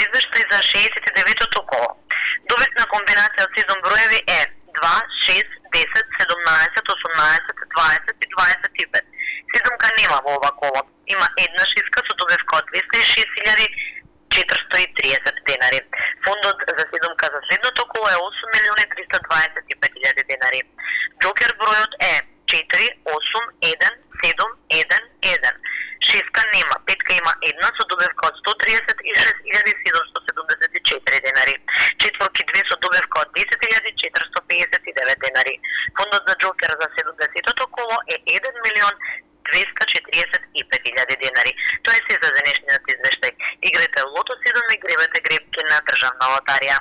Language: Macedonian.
извештај за 69-то коло. Добитна комбинација од 7 броеви е 2, 6, 10, 17, 18, 20 и 25. Седумка нема во ова коло. Има една шеска со добивка од 206.430 денари. Фондот за седумка за следното коло е 8.325.000 денари. Джокер бројот е 4, 8, 1, 7, 1, 1. Шеска нема, петка има една со добивка од 136.774 денари. Четворки 2 со добивка од 10.459 денари. Фондот за джокер за 70-то коло е 1.245.000 денари. Тоа е се за денешниот извештај. Играте лото 7 и гребете гребки на државна лотарија.